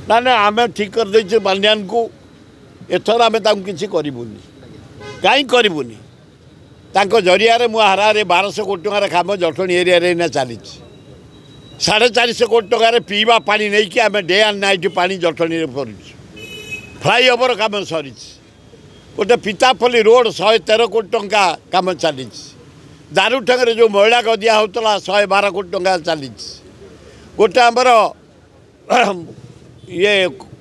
ନା ନା, ଆମେ ଠିକ୍ କରିଦେଇଛୁ ପାଣ୍ଡିଆନକୁ, ଏଥର ଆମେ ତାଙ୍କୁ କିଛି କରିବୁନି। କାହିଁ କରିବୁନି? ତାଙ୍କ ଜରିଆରେ ମୁଁ ହାରାହାରି 1200 କୋଟି ଟଙ୍କାର କାମ ଜଟଣୀ ଏରିଆରେ ଏଇନା ଚାଲିଛି। 450 କୋଟି ଟଙ୍କାରେ ପିଇବା ପାଣି ନେଇକି ଆମେ ଡେ ଆଣ୍ଡ ନାଇଟ୍ ପାଣି ଜଟଣୀରେ କରୁଛୁ। ଫ୍ଲାଇଓଭର କାମ ସରିଛି। ଗୋଟେ ପିତାପଲ୍ଲୀ ରୋଡ଼ 113 କୋଟି ଟଙ୍କା କାମ ଚାଲିଛି। ଦାରୁଠେଙ୍ଗରେ ଯେଉଁ ମଇଳା ଗଦିଆ ହେଉଥିଲା 112 କୋଟି ଟଙ୍କା ଚାଲିଛି। ଗୋଟେ ଆମର ଇଏ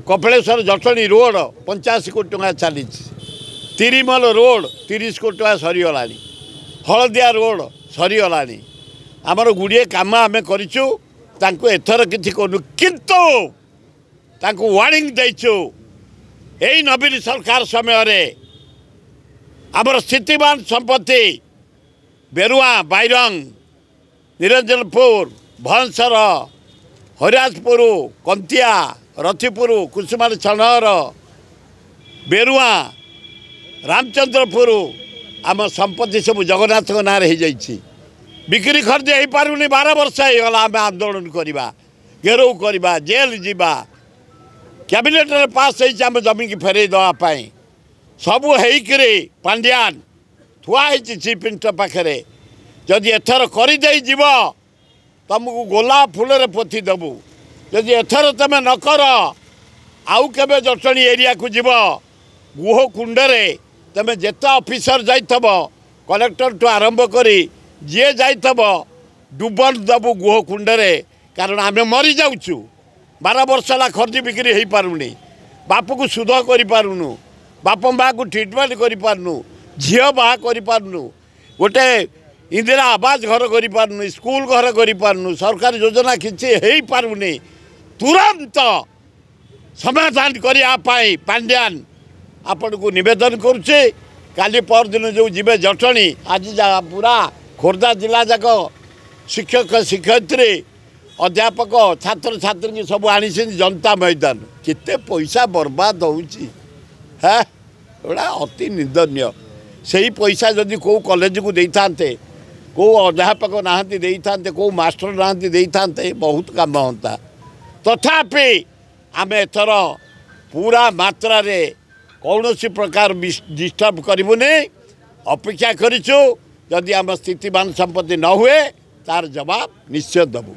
କପିଳେଶ୍ୱର ଜଟଣୀ ରୋଡ଼ 85 କୋଟି ଟଙ୍କା ଚାଲିଛି। ତିରିମଲ ରୋଡ଼ 30 କୋଟି ଟଙ୍କା ସରିଗଲାଣି। ହଳଦିଆ ରୋଡ଼ ସରିଗଲାଣି। ଆମର ଗୁଡ଼ିଏ କାମ ଆମେ କରିଛୁ, ତାଙ୍କୁ ଏଥର କିଛି କରୁନୁ, କିନ୍ତୁ ତାଙ୍କୁ ୱାର୍ଣ୍ଣିଂ ଦେଇଛୁ। ଏଇ ନବୀନ ସରକାର ସମୟରେ ଆମର ସ୍ଥିତିବାନ ସମ୍ପତ୍ତି ବେରୁଆ, ବାଇରଙ୍ଗ, ନିରଞ୍ଜନପୁର, ଭଅଁସର, ହରିରାଜପୁର, କନ୍ତିଆ, ରଥିପୁର, କୁସୁମାଲ ଛଣର, ବେରୁଆ, ରାମଚନ୍ଦ୍ରପୁର, ଆମ ସମ୍ପତ୍ତି ସବୁ ଜଗନ୍ନାଥଙ୍କ ନାଁରେ ହେଇଯାଇଛି। ବିକ୍ରି ଖର୍ଚ୍ଚ ହେଇପାରୁନି। 12 ବର୍ଷ ହେଇଗଲା। ଆମେ ଆନ୍ଦୋଳନ କରିବା, ଘେରାଉ କରିବା, ଜେଲ୍ ଯିବା। କ୍ୟାବିନେଟ୍ରେ ପାସ୍ ହେଇଛି ଆମ ଜମିକି ଫେରେଇ ଦେବା ପାଇଁ। ସବୁ ହେଇକିରି ପାଣ୍ଡିଆନ ଥୁଆ ହେଇଛି ଚିଫ୍ ମିନିଷ୍ଟର ପାଖରେ। ଯଦି ଏଥର କରିଦେଇ ଯିବ, ତୁମକୁ ଗୋଲାପ ଫୁଲରେ ପୋତି ଦେବୁ। ଯଦି ଏଥର ତୁମେ ନ କର, ଆଉ କେବେ ଜଟଣୀ ଏରିଆକୁ ଯିବ, ଗୁହ କୁଣ୍ଡରେ ତୁମେ ଯେତେ ଅଫିସର ଯାଇଥିବ, କଲେକ୍ଟରଠୁ ଆରମ୍ଭ କରି ଯିଏ ଯାଇଥିବ, ଡୁବନ ଦେବୁ ଗୁହ କୁଣ୍ଡରେ। କାରଣ ଆମେ ମରିଯାଉଛୁ। 12 ବର୍ଷ ହେଲା ଖର୍ଚ୍ଚ ବିକ୍ରି ହେଇପାରୁନି, ବାପକୁ ସୁଧ କରିପାରୁନୁ, ବାପ ମାଆକୁ ଟ୍ରିଟମେଣ୍ଟ କରିପାରୁନୁ, ଝିଅ ବାହା କରିପାରୁନୁ, ଗୋଟେ ଇନ୍ଦିରା ଆବାସ ଘର କରିପାରୁନୁ, ସ୍କୁଲ ଘର କରିପାରୁନୁ, ସରକାରୀ ଯୋଜନା କିଛି ହେଇପାରୁନି। ତୁରନ୍ତ ସମାଧାନ କରିବା ପାଇଁ ପାଣ୍ଡିଆନ ଆପଣଙ୍କୁ ନିବେଦନ କରୁଛି। କାଲି ପରଦିନ ଯେଉଁ ଯିବେ ଜଟଣୀ, ଆଜି ପୁରା ଖୋର୍ଦ୍ଧା ଜିଲ୍ଲା ଯାକ ଶିକ୍ଷକ ଶିକ୍ଷୟିତ୍ରୀ, ଅଧ୍ୟାପକ, ଛାତ୍ରଛାତ୍ରୀଙ୍କୁ ସବୁ ଆଣିଛନ୍ତି ଜନତା ମଇଦାନ। କେତେ ପଇସା ବର୍ବାଦ ହେଉଛି, ହେ ଏଗୁଡ଼ା ଅତି ନିନ୍ଦନୀୟ। ସେଇ ପଇସା ଯଦି କେଉଁ କଲେଜକୁ ଦେଇଥାନ୍ତେ, କେଉଁ ଅଧ୍ୟାପକ ନାହାନ୍ତି ଦେଇଥାନ୍ତେ, କେଉଁ ମାଷ୍ଟର ନାହାନ୍ତି ଦେଇଥାନ୍ତେ, ବହୁତ କାମ ହୁଅନ୍ତା। ତଥାପି ଆମେ ଏଥର ପୁରା ମାତ୍ରାରେ କୌଣସି ପ୍ରକାର ଡିଷ୍ଟର୍ବ କରିବୁନି। ଅପେକ୍ଷା କରିଛୁ, ଯଦି ଆମ ସ୍ଥିତିବାନ ସମ୍ପତ୍ତି ନ ହୁଏ ତାର ଜବାବ ନିଶ୍ଚୟ ଦେବୁ।